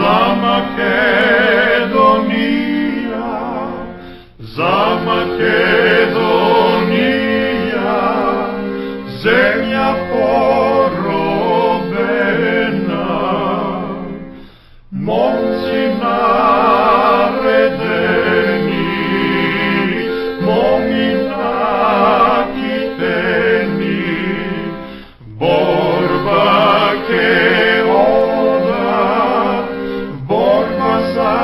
за Македонија, за Македонија, земја поробена, момци наредени, моми накитени, борба ке ода, борба за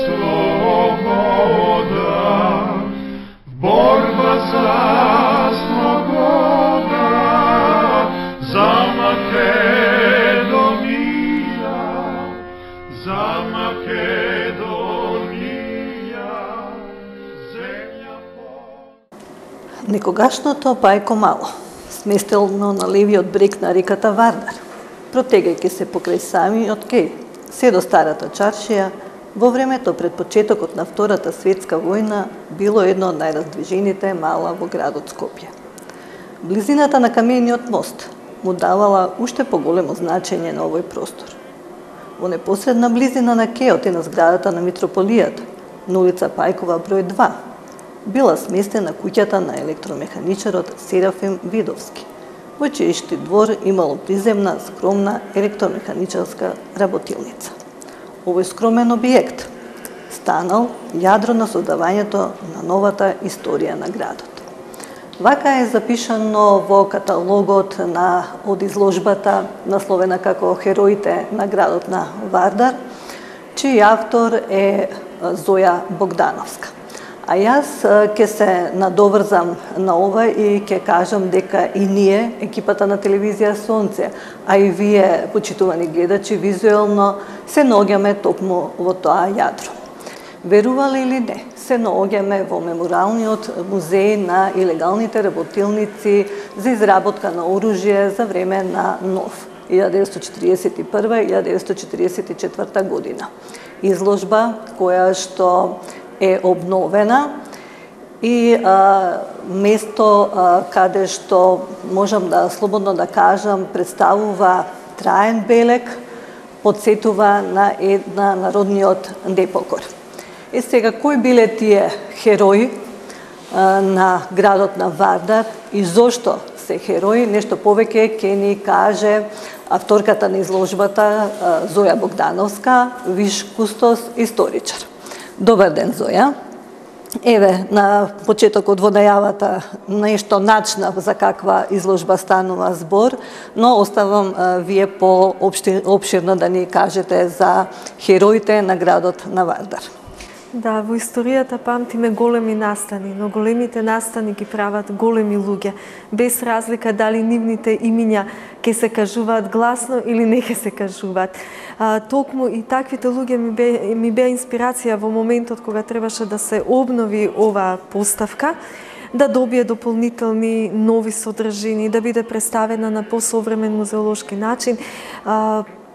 слобода, борба за слобода, за Македонија, за Македонија, земја по... Некогашното Пајко Мало, сместено на левиот брег на реката Вардар, протегајќи се покрај самиот кеј, се до Старата чаршија, во времето пред почетокот на Втората светска војна било едно од најраздвижените мала во градот Скопје. Близината на камениот мост му давала уште поголемо значење на овој простор. Во непосредна близина на кеот и на зградата на митрополијата, на улица Пајкова број 2, била сместена куќата на електромеханичарот Серафим Видовски, во чиј двор имало приземна, скромна електромеханичарска работилница. Овој скромен објект станал јадро на создавањето на новата историја на градот. Вака е запишано во каталогот од изложбата насловена како Хероите на градот на Вардар, чиј автор е Зоја Богдановска. А јас ќе се надоврзам на ова и ќе кажам дека и ние, екипата на телевизија Сонце, а и вие, почитувани гледачи, визуелно се наоѓаме токму во тоа јадро. Верувале или не, се наоѓаме во меморалниот музеј на илегалните работилници за изработка на оружје за време на НОВ 1941-1944 година. Изложба која што е обновена и место каде што можам да слободно да кажам представува траен белег, подсетува на народниот непокор. Сега, кои биле тие херои на градот на Вардар и зошто се херои, нешто повеќе ќе ни каже авторката на изложбата Зоја Богдановска, виш кустос историчар. Добар ден, Зоја. Еве, на почетокот во најавата нешто начнав за каква изложба станува збор, но оставам вие по-обширно да ни кажете за хероите на градот на Вардар. Да, во историјата памтиме големи настани, но големите настани ги прават големи луѓе, без разлика дали нивните имиња ќе се кажуваат гласно или не ќе се кажуваат. Токму и таквите луѓе ми беа инспирација во моментот кога требаше да се обнови оваа поставка, да добие дополнителни нови содржини, да биде представена на посовремен музеолошки начин.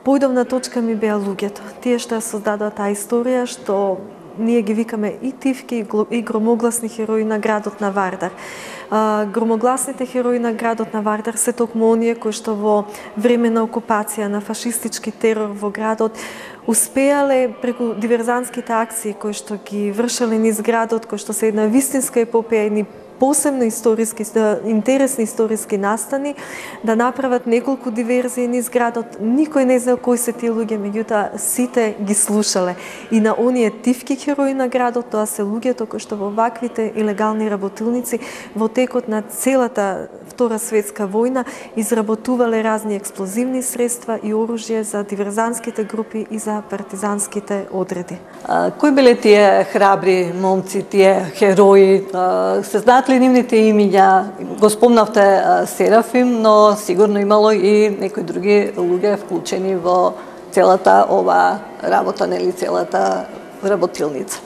Поидовна точка ми беа луѓето, тие што ја создадоа таа историја, што ние ги викаме и тивки и громогласни херои на градот на Вардар. Громогласните херои на градот на Вардар се токму оние кои што во време на окупација, на фашистички терор во градот, успеале преку диверзантските акции кои што ги вршеле низ градот, кои што се една вистинска епопеја, едни посебно интересни историски настани, да направат неколку диверзии низ градот. Никој не знае кои се тие луѓе, меѓутоа сите ги слушале. И на оние тивки херои на градот, тоа се луѓето кои што во ваквите илегални работилници во текот на целата Втора светска војна изработувале разни експлозивни средства и оружје за диверзантските групи и за партизанските одреди. Кои биле тие храбри момци, тие херои? Се знаат ли нивните имиња? Го спомнавте Серафим, но сигурно имало и некои други луѓе вклучени во целата ова работа, нели целата работилница.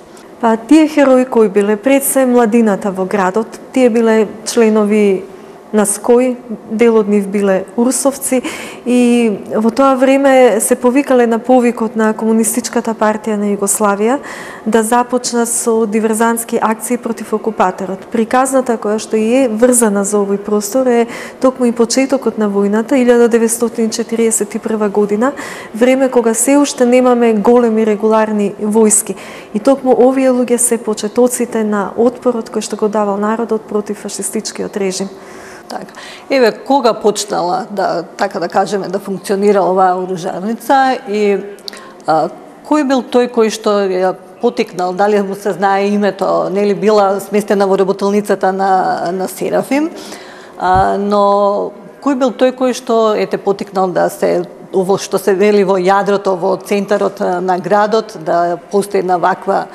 Тие херои кои биле пред се младината во градот, тие биле членови на Ској, дел од нив биле урсовци и во тоа време се повикале на повикот на Комунистичката партија на Југославија да започнат со диверзантски акции против окупаторот. Приказната која што е врзана за овој простор е токму и почетокот на војната 1941 година, време кога се уште немаме големи регуларни војски. И токму овие луѓе се почетоците на отпорот кој што го давал народот против фашистичкиот режим. Така. Еве, кога почнала да, така да кажеме, да функционира оваа оружарница и кој бил тој кој што ја потикнал, дали му се знае името, нели била сместена во работилницата на Серафим, но кој бил тој кој што ете потикнал да се, ово што се вели во јадрото, во центарот на градот, да постои една ваква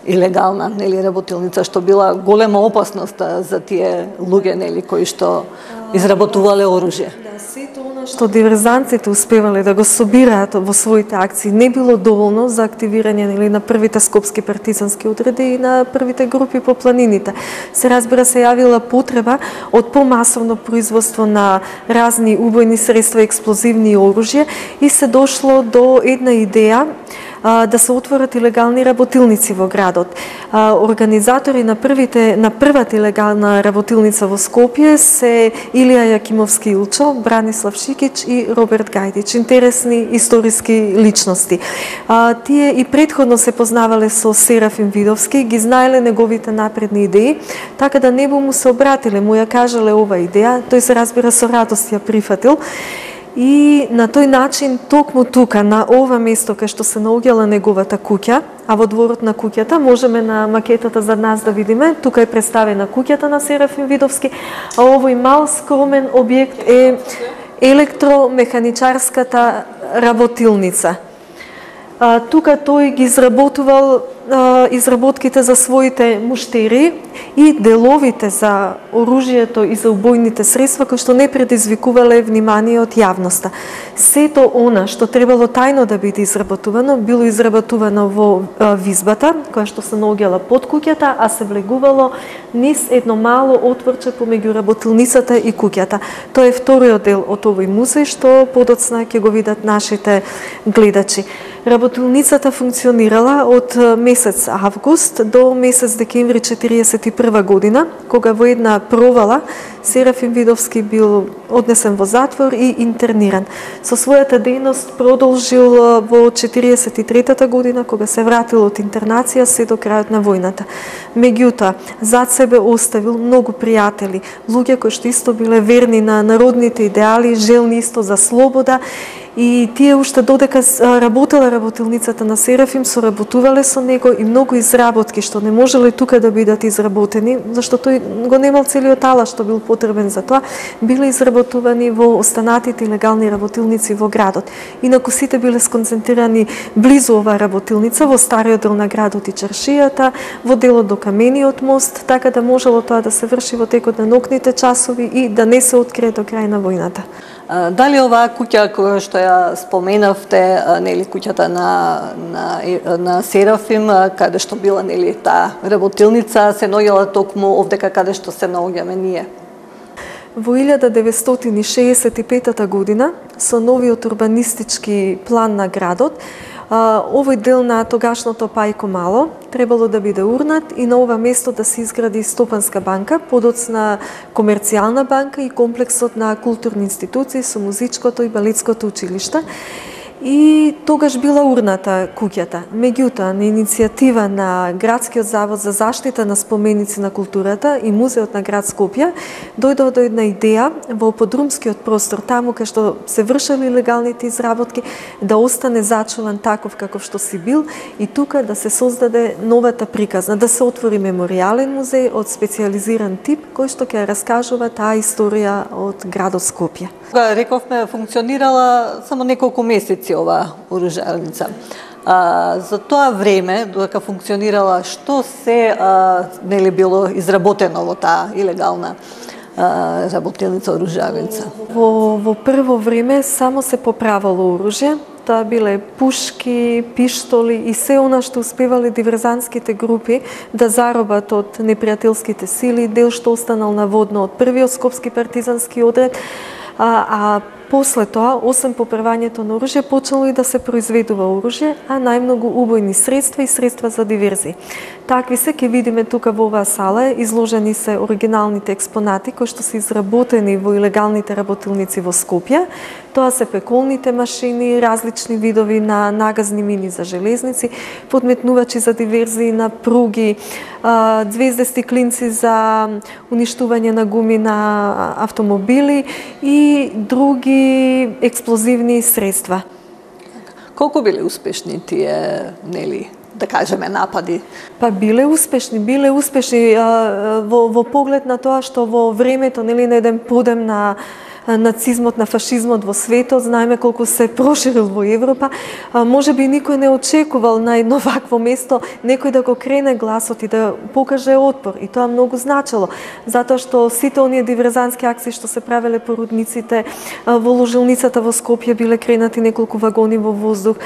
илегална, нели, работилница, што била голема опасност за тие луѓе, нели, кои што изработувале оружје. Да, сето она што диверзантите успевале да го собираат во своите акции не било доволно за активирање, нели, на првите скопски партизански одреди и на првите групи по планините. Се разбира, се јавила потреба од помасовно производство на разни убојни средства, експлозивни оружје и се дошло до една идеја да се отворат илегални работилници во градот. Организатори на првата илегална работилница во Скопје се Илија Јакимовски Илчо, Бранислав Шикич и Роберт Гајдич, интересни историски личности. Тие и претходно се познавале со Серафим Видовски, ги знаеле неговите напредни идеи, така да небо му се обратиле, му ја кажале ова идеја, тој се разбира со радост ја прифатил. И на тој начин, токму тука, на ова место кај што се наоѓала неговата куќа, а во дворот на куќата, можеме на макетата за нас да видиме, тука е представена куќата на Серафим Видовски, а овој мал скромен објект е електромеханичарската работилница. Тука тој ги изработувал изработките за своите муштери и деловите за оружјето и за убојните средства кои што не предизвикувале внимание од јавноста. Сето она што требало тајно да биде изработувано, било изработувано во визбата, која што се наоѓала под куќата, а се влегувало низ едно мало отворче помеѓу работилницата и куќата. Тоа е вториот дел од овој музеј што подоцна ќе го видат нашите гледачи. Работилницата функционирала од месец август до месец декември 1941 година, кога во една провала Серафим Видовски бил однесен во затвор и интерниран. Со својата дејност продолжил во 1943 година, кога се вратил од интернација се до крајот на војната. Меѓутоа, зад себе оставил многу пријатели, луѓе кои што исто биле верни на народните идеали, желни исто за слобода. И тие уште додека работела работилницата на Серафим, соработувале со него и многу изработки што не можеле тука да бидат изработени, зашто тој го немал целиот алат што бил потребен за тоа, биле изработувани во останатите легални работилници во градот. Инаку сите биле сконцентрирани близу оваа работилница, во стариот дел на градот и чаршијата, во делот до камениот мост, така да можело тоа да се врши во текот на ноќните часови и да не се открие до крај на војната. Дали оваа куќа која што ја споменавте, нели, куќата на Серафим, каде што била, нели, таа работилница, се наоѓала токму овдека каде што се наоѓаме ние? Во 1965 година, со новиот урбанистички план на градот, овој дел на тогашното Пајко Мало требало да биде урнат и на ова место да се изгради Стопанска банка, подоцна комерцијална банка и комплексот на културни институции со музичкото и балетското училиште. И тогаш била урната куќата. Меѓутоа, на иницијатива на Градскиот завод за заштита на споменици на културата и Музеот на град Скопје, дојде до една идеја во подрумскиот простор, таму кај што се вршеле легалните изработки, да остане зачуван таков каков што си бил и тука да се создаде новата приказна, да се отвори меморијален музеј од специјализиран тип, кој што ќе раскажува таа историја од градот Скопје. Рековме, функционирала само неколку месеци оваа оружарница. За тоа време, додека функционирала, што се нели било изработено во таа илегална работилница оружарница? Во прво време само се поправало оружје, тоа биле пушки, пиштоли и се она што успевале диверзантските групи да заробат од непријателските сили, дел што останал наводно од првиот скопски партизански одред, а после тоа, освен поправањето на оружје, почнало и да се произведува оружје, а најмногу убојни средства и средства за диверзии. Такви се, ќе видиме тука во оваа сала, изложени се оригиналните експонати кои што се изработени во илегалните работилници во Скопје. Тоа се пеколните машини, различни видови на нагазни мини за железници, подметнувачи за диверзии на пруги, звездести клинци за уништување на гуми на автомобили и други експлозивни средства. Колку биле успешни тие, нели, да кажеме, напади? Па биле успешни во поглед на тоа што во времето, нели, на еден подем на нацизмот, на фашизмот во светот, знаеме колку се проширил во Европа. Може би никој не очекувал на едно вакво место некој да го крене гласот и да покаже отпор. И тоа многу значело, затоа што сите оние диверзантски акции што се правеле по рудниците, во ложилницата во Скопје биле кренати неколку вагони во воздух,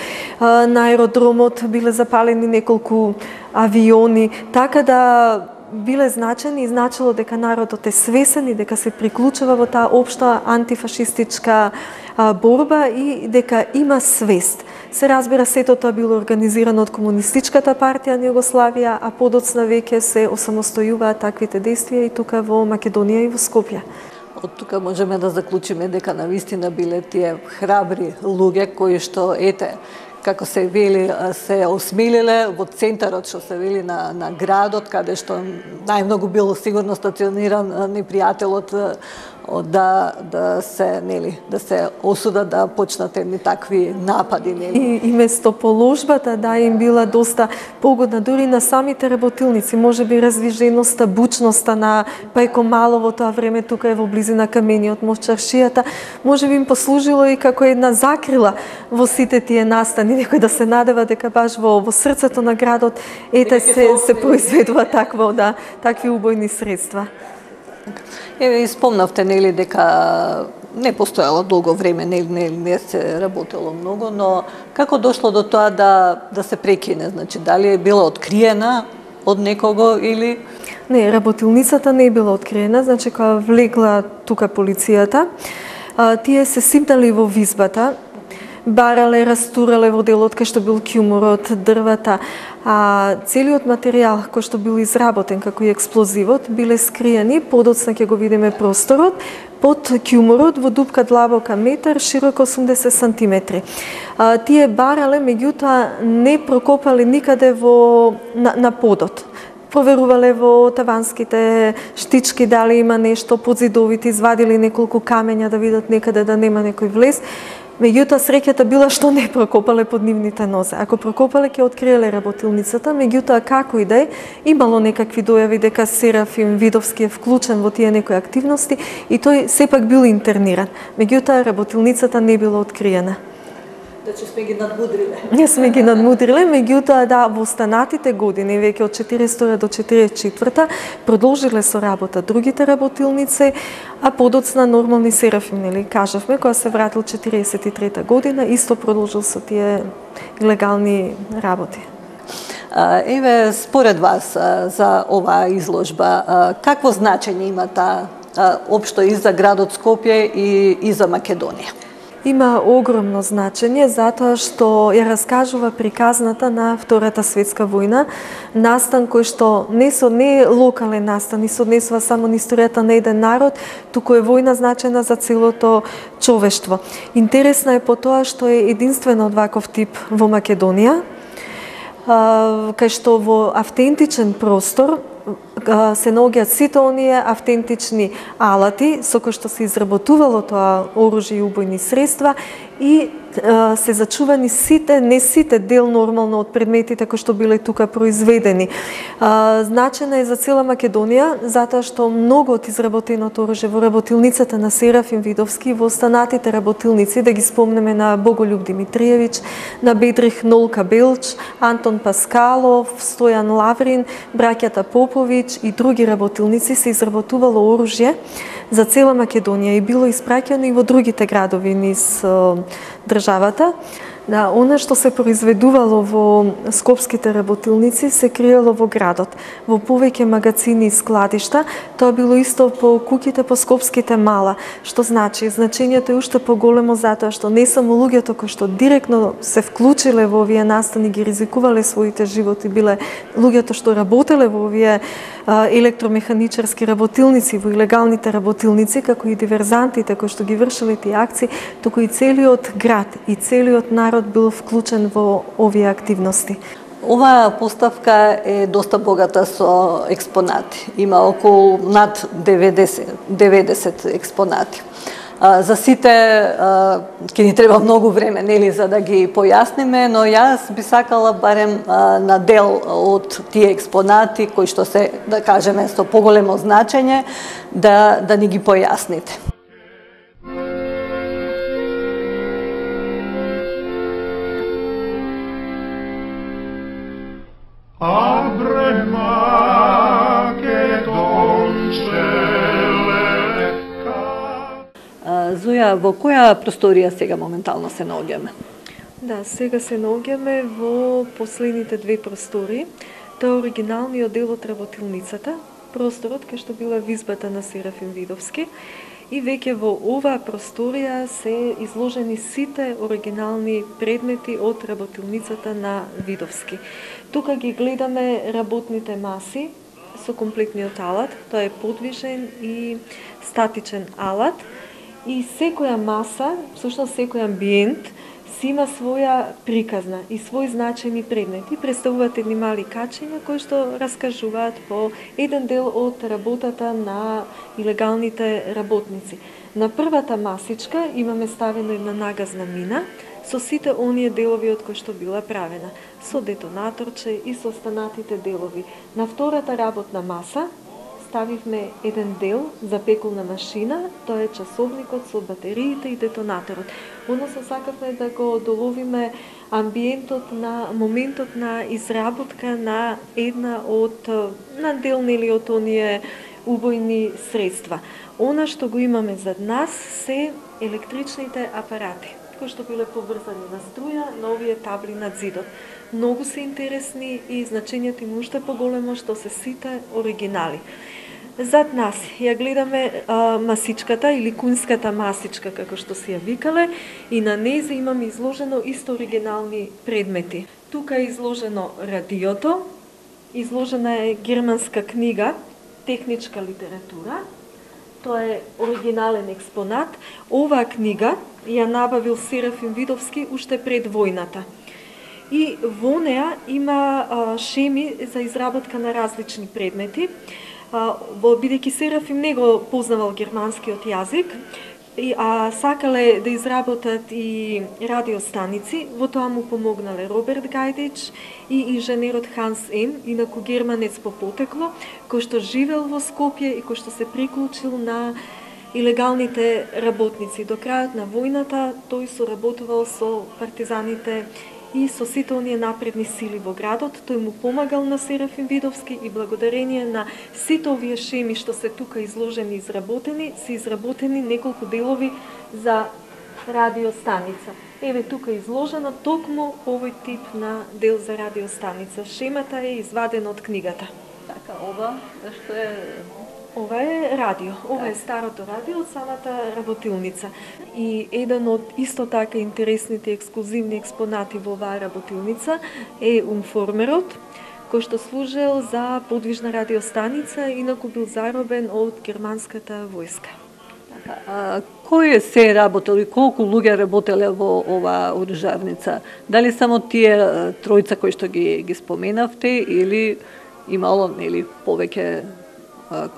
на аеродромот биле запалени неколку авиони, така да биле значени и значило дека народот е свесен и дека се приклучува во таа општа антифашистичка борба и дека има свест. Се разбира, сето тоа било организирано од Комунистичката партија на Југославија, а подоцна веќе се осамостојуваат таквите действија и тука во Македонија и во Скопје. Од тука можеме да заклучиме дека навистина биле тие храбри луѓе кои што, ете, како се вели, се осмелиле во центарот, што се вели на градот, каде што најмногу бил сигурно стациониран непријателот, да се осудат да почнат едни такви напади, нели? И место положбата им била доста погодна дури на самите работилници, можеби раздвиженоста, бучноста на Пајко Мало во тоа време тука е во близина камениот мост Чаршијата, можеби им послужило и како една закрила во сите тие настани, некој да се надева дека баш во срцето на градот се произведува такви убојни средства. Еве, спомнавте, нели, дека не постоело долго време, не се работело многу, но како дошло до тоа да се прекине? Значи, дали е била откриена од некого или... Не, работилницата не е била откриена, значи кога влегла тука полицијата, тие се сипнали во визбата, барале, растурале во делот кај што бил ќумурот, дрвата, а целиот материјал кој што бил изработен како и експлозивот биле скриени, подоцна ќе го видиме просторот, под ќумурот во дупка длабока метар, широко 80 сантиметри. Тие барале, меѓутоа, не прокопале никаде на подот. Проверувале во таванските штички дали има нешто, под зидовите извадили неколку камења да видат некаде да нема некој влез. Меѓутоа, среќата била што не прокопале под нивните нозе. Ако прокопале, ќе откриеле работилницата, меѓутоа, како и да е, имало некакви дојави дека Серафим Видовски е вклучен во тие некои активности и тој сепак бил интерниран. Меѓутоа, работилницата не била откриена. Значи сме ги надмудриле. Не сме ги надмудриле, меѓутоа во останатите години, веќе од 42 до 44 продолжиле со работа другите работилници, а подоцна нормални Серафим, нели, кажавме, кога се вратил 43 година, исто продолжил со тие илегални работи. Еве, според вас за оваа изложба, какво значење има таа општо и за градот Скопје и за Македонија? Има огромно значење затоа што ја раскажува приказната на Втората светска војна, настан кој што не е локален настан и се однесува само на историјата на еден народ, туку е војна значена за целото човештво. Интересна е по тоа што е единствена од ваков тип во Македонија, кај што во автентичен простор се наоѓаат сите оние автентични алати со кои што се изработувало тоа оружје и убојни средства и се зачувани не сите дел нормално од предметите кои што биле тука произведени. Значена е за цела Македонија затоа што многу од изработеното оружје во работилницата на Серафим Видовски и во останатите работилници, да ги спомнеме на Боголюб Димитриевич, на Бедрих Нолка Белч, Антон Паскалов, Стојан Лаврин, браќата Поповиќ и други работилници се изработувало оружје за цела Македонија и било испраќано и во другите градови низ државата. Да, она што се произведувало во скопските работилници се криело во градот, во повеќе магазини и складишта. Тоа било исто по куќите по скопските мала, што значи значењето е уште поголемо затоа што не само луѓето кои што директно се вклучиле во овие настани, ги ризикувале своите животи, биле луѓето што работеле во овие електромеханичарски работилници, во илегалните работилници, како и диверзантите кои што ги вршеле тие акции, туку и целиот град и целиот народ бил вклучен во овие активности. Оваа поставка е доста богата со експонати. Има околу над 90 експонати. За сите ќе ни треба многу време, нели, за да ги појасниме, но јас би сакала барем на дел од тие експонати кои што се, да кажеме, со поголемо значење, да ни ги појасните. Зоја, во која просторија сега моментално се наоѓаме? Да, сега се наоѓаме во последните две простори. Тоа е оригиналниот дел од работилницата, просторот кај што била визбата на Серафим Видовски. И веќе во оваа просторија се изложени сите оригинални предмети од работилницата на Видовски. Тука ги гледаме работните маси со комплетниот алат, тоа е подвижен и статичен алат. И секоја маса, всушност секој амбиент, си има своја приказна и свој значајни предмети. Представуваат едни мали качиња кои што раскажуваат по еден дел од работата на илегалните работници. На првата масичка имаме ставено една нагазна мина со сите оние делови од кои што била правена, со детонаторче и со останатите делови. На втората работна маса ставивме еден дел за пеколна машина, тоа е часовникот со батериите и детонаторот. Односно сакавме да го доловиме амбиентот на моментот на изработка на една од дел, нели, од оние убојни средства. Она што го имаме зад нас се електричните апарати, кои што биле поврзани на струја на овие табли над зидот. Многу се интересни и значењето им уште поголемо што се сите оригинали. Зад нас ја гледаме масичката или кунската масичка, како што се ја викале, и на нејзе имаме изложено исто оригинални предмети. Тука е изложено радиото, изложена е германска книга, техничка литература, тоа е оригинален експонат. Оваа книга ја набавил Серафим Видовски уште пред војната. И во неа има шеми за изработка на различни предмети. Бидејќи Серафим не го познавал германскиот јазик, а сакале да изработат и радиостаници, во тоа му помогнале Роберт Гајдич и инженерот Ханс Ем, инаку германец по потекло, кој што живел во Скопје и кој што се приклучил на илегалните работници. До крајот на војната тој соработувал со партизаните и со сите оние напредни сили во градот. Тој му помагал на Серафим Видовски и благодарение на сите овие шеми што се тука изложени и изработени, се изработени неколку делови за радиостаница. Еве тука е изложено токму овој тип на дел за радиостаница. Шемата е извадена од книгата. Така, ова што е... Ова е радио. Ова е старото радио од самата работилница. И еден од исто така интересните ексклузивни експонати во оваа работилница е умформерот, кој што служел за подвижна радиостаница, инаку бил заробен од германската војска. Кој се работел и колку луѓе работеле во оваа оружарница? Дали само тие тројца кои што ги споменавте или имало, нели, повеќе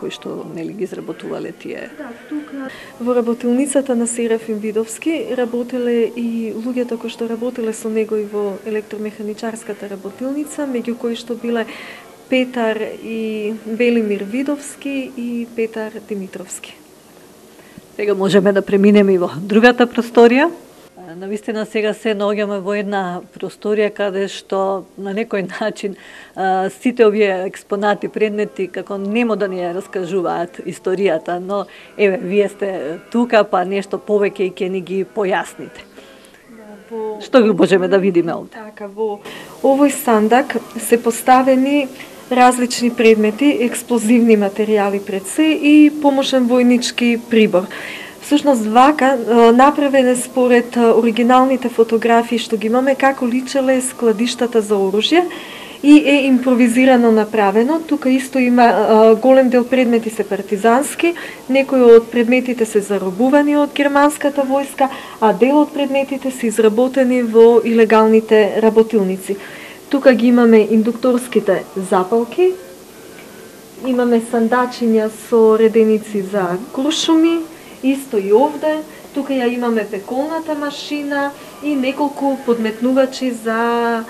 кои што, нели, ги изработувале тие? Да, тука во работилницата на Серафим Видовски работеле и луѓето кои што работеле со него и во електромеханичарската работилница, меѓу кои што биле Петар и Велимир Видовски и Петар Димитровски. Сега можеме да преминеме и во другата просторија. Навистина сега се наоѓаме во една просторија каде што на некој начин сите овие експонати, предмети, како немо да ни ја раскажуваат историјата, но еве, вие сте тука, па нешто повеќе и ќе ни ги појасните. Што ги можеме да видиме овде? Така, во овој сандак се поставени различни предмети, експлозивни материјали пред се и помошен војнички прибор. Всушност вака направен е според оригиналните фотографии што ги имаме како личеле складиштата за оружје и е импровизирано направено. Тука исто има голем дел предмети се партизански, некои од предметите се заробувани од германската војска, а дел од предметите се изработени во илегалните работилници. Тука ги имаме индукторските запалки, имаме сандачиња со реденици за куршуми, исто и овде. Тука ја имаме пеколната машина и неколку подметнувачи за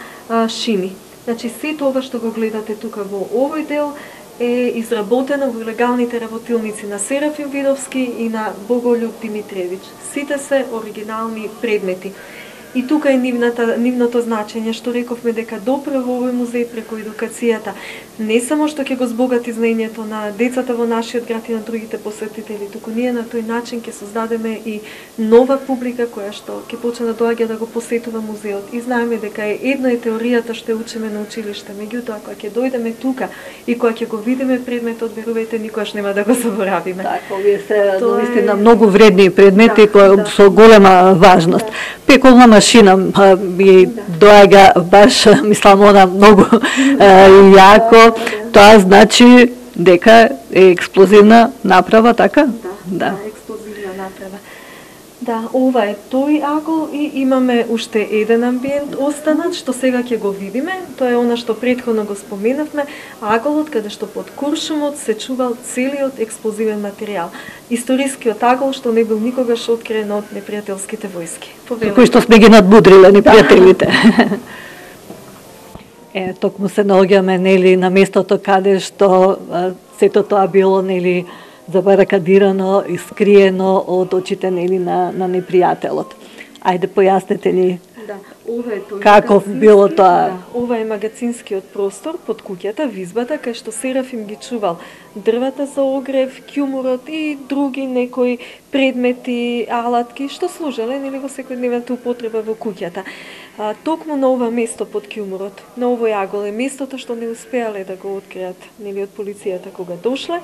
шими. Значи, сето ова што го гледате тука во овој дел е изработено во илегалните работилници на Серафим Видовски и на Боголюб Димитревич. Сите се оригинални предмети. И тука е нивното значење, што рековме дека допре во овој музеј преку едукацијата, не само што ќе го збогати знаењето на децата во нашиот град и на другите посетители, туку ние на тој начин ќе создадеме и нова публика која што ќе почне да доаѓа да го посетува музеот. И знаеме дека едно е теоријата што учиме на училиште, меѓутоа кога ќе дојдеме тука и кога ќе го видиме предметот, верувајте, никогаш нема да го заборавиме. Така, овие се наистина многу вредни предмети кои со голема важност. Пеколна машина ми доаѓа баш, мислам, она многу јако. Тоа значи дека е експлозивна направа, така? Да, експлозивна направа. Да, ова е тој агол и имаме уште еден амбиент останат, што сега ќе го видиме. Тоа е она што претходно го споменавме, аголот каде што под куршумот се чувал целиот експлозивен материјал. Историскиот агол што не бил никогаш откриен од непријателските војски. Кој што сме ги надмудриле непријателите. Токму се наоѓаме, нели, на местото каде што сето тоа било, нели, забаракадирано и скриено од очите, нели, на непријателот. Ајде, појаснете ни. Да, ова е тој каков било тоа? Да, ова е магацинскиот простор под куќата, визбата, кај што Серафим ги чувал дрвата за огрев, ќумурот и други некои предмети, алатки што служеле, нели, во секојдневната употреба во куќата. Токму на ова место под ќумурот, на овој агол е местото што не успеале да го откријат, нели, од полицијата кога дошле.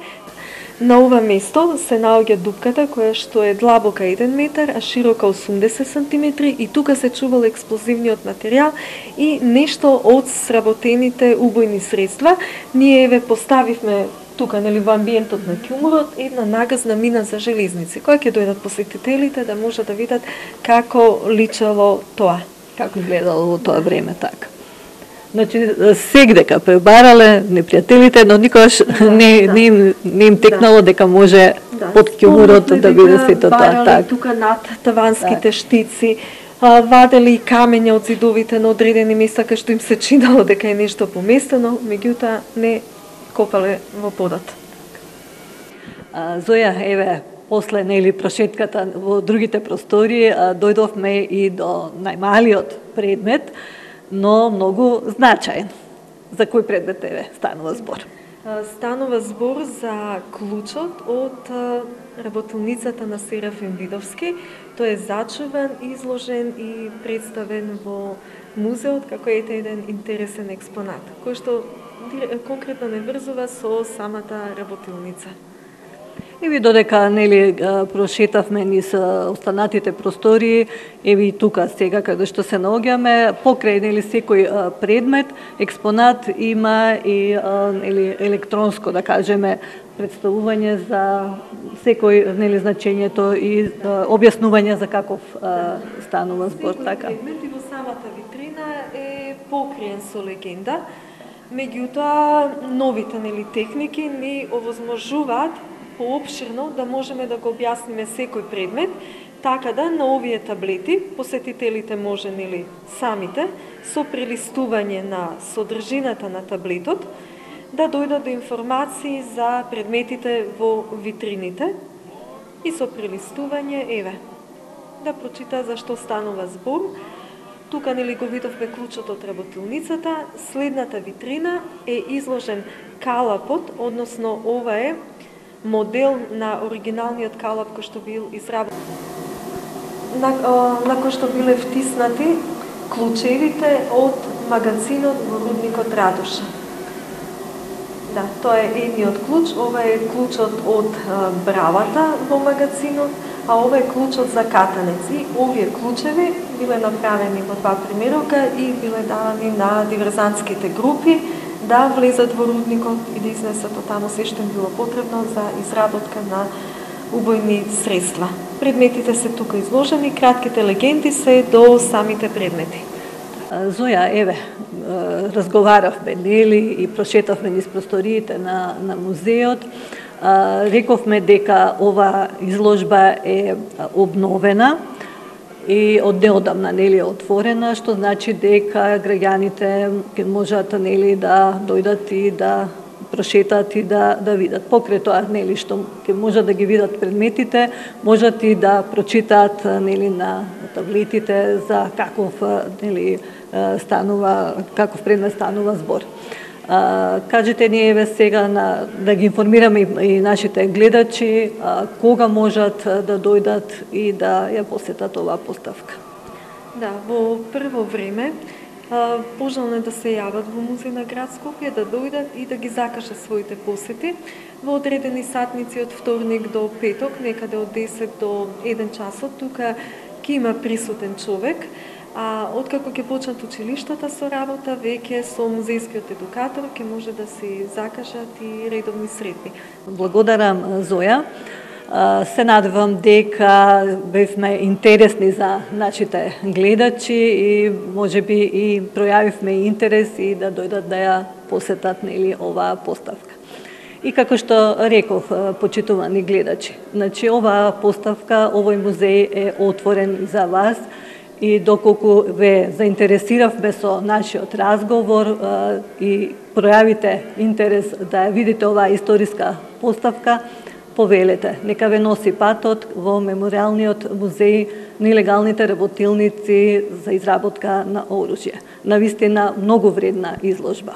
На ова место се наоѓа дупката која што е длабока 1 метар, а широка 80 сантиметри и тука се чувал експлозивниот материјал и нешто од сработените убојни средства. Ние еве поставивме тука, нели, во амбиентот на ќумурот една нагазна мина за железници, која ќе дојдат посетителите да може да видат како личало тоа. Како изгледало во тоа време, така. Значи, сегдека пребарале непријателите, но никогаш не им текнало дека може под ќумурот да биде сето тоа. Барале тука над таванските штици, вадели камења од зидовите на одредени места кај што им се чинало дека е нешто поместено, меѓутоа не копале во подот. Зоја, еве, после, нели, прошетката во другите простори, дојдовме и до најмалиот предмет, но многу значаен. За кој предмет, еве, станува збор? Станува збор за клучот од работилницата на Серафим Видовски. Тој е зачуван, изложен и представен во музеот како еден интересен експонат, кој што конкретно не врзува со самата работилница. И ви додека, нели, прошетавме низ останатите простори, еви и тука сега каде што се наоѓаме, покрај, нели, секој предмет, експонат има и, нели, електронско, да кажеме, представување за секој, нели, значењето и објаснување за каков станува збор, така. Секој предмет и во самата витрина е покриен со легенда, меѓутоа новите, нели, техники ни овозможуваат поопширно да можеме да го објасниме секој предмет, така да на овие таблети посетителите може, нели, самите со прелистување на содржината на таблетот да дојдат до информации за предметите во витрините и со прелистување, еве, да прочита за што станува збор. Тука, нели, го видовме клучот од работилницата, следната витрина е изложен калапот, односно ова е модел на оригиналниот калап кој што бил изработен. на кој што биле втиснати клучевите од магазинот во рудникот Радоша. Да, тоа е едниот клуч, ова е клучот од бравата во магазинот, а ова е клучот за катанец. И овие клучеви биле направени во два примерока и биле давани на диверзантските групи да влезат во рудникот и да изнесат од таму се што им било потребно за изработка на убојни средства. Предметите се тука изложени, кратките легенди се до самите предмети. Зоја, еве, разговаравме, нели, и прошетавме низ просториите на музеот. Рековме дека ова изложба е обновена и од неодамна, нели, отворена, што значи дека граѓаните ќе можат, нели, да дојдат и да прошетат и да видат. Покрај тоа, нели, што ќе можат да ги видат предметите, можат и да прочитаат, нели, на таблетите за каков, нели, каков предмет станува збор. Кажете ни, еве, сега да ги информираме и нашите гледачи кога можат да дојдат и да ја посетат оваа поставка. Да, во прво време пожелно е да се јават во Музеј на град Скопје, да дојдат и да ги закажат своите посети во одредени сатници од вторник до петок, некаде од 10 до 1 часот. Тука ќе има присутен човек. А откако ќе почнат училиштата со работа, веќе со музејскиот едукатор ќе може да се закажат и редовни средби. Благодарам, Зоја. Се надевам дека бевме интересни за нашите гледачи и можеби и пројавивме интерес и да дојдат да ја посетат, нели, оваа поставка. И како што реков, почитувани гледачи, значи оваа поставка, овој музеј е отворен за вас. И доколку ве заинтересиравме со нашиот разговор и пројавите интерес да видите оваа историска поставка, повелете, нека ве носи патот во Меморијалниот музеј на илегалните работилници за изработка на оружје. Навистина многу вредна изложба.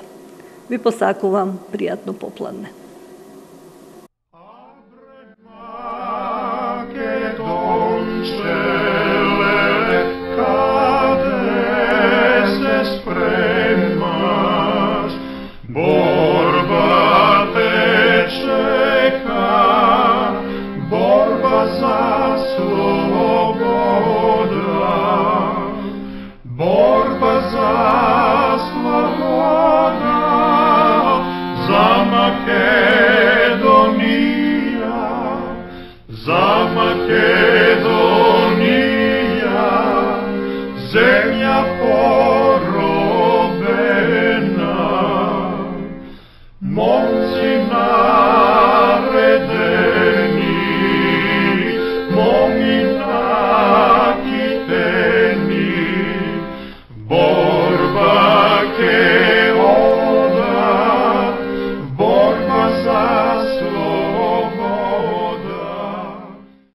Ви посакувам пријатно попладне. Земја поробена, момци наредени, моми накитени,